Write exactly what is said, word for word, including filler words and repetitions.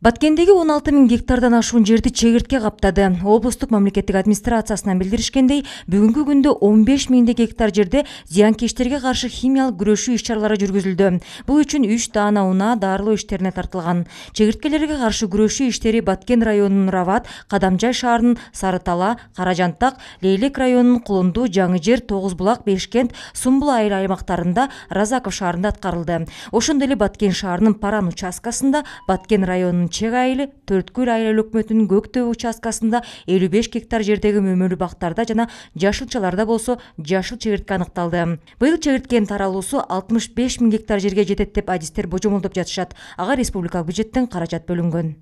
Баткендеги он алты миң гектардан ашуун жерди чегиртке каптады. Облустук мамлекеттик администрациясынан билдиришкендей, бүгүнкү күндө он беш миңдей гектар жерде зыянкечтерге каршы химиялык күрөшүү иш-чаралары жүргүзүлдү. Бул үчүн үч даана унаа дарылоо иштерине тартылган. Чегирткелерге каршы күрөшүү иштери Баткен районунун Рават, Кадамжай шаарынын Сарытала, Каражантак, Лейлек районунун Кулунду, Жаңы Жер, Тогуз Булак, Бешкент, Сумбул айыл аймактарында, Разаков шаарында аткарылды. Ошондой эле Баткен шаарынын Паран участкасында, Баткен районунун Чек айылы, Төрткүл айыл өкмөтүнүн Көктөбө участкасында элүү беш гектар жердеги мөмөлүү бактарда жана жашылчаларда болсо жашыл чегиртке аныкталды. Быйыл чегирткенин таралуусу алтымыш беш миң гектар жерге жетет деп адистер божомолдоп жатышат. Ага республикалык бюджеттен каражат бөлүнгөн.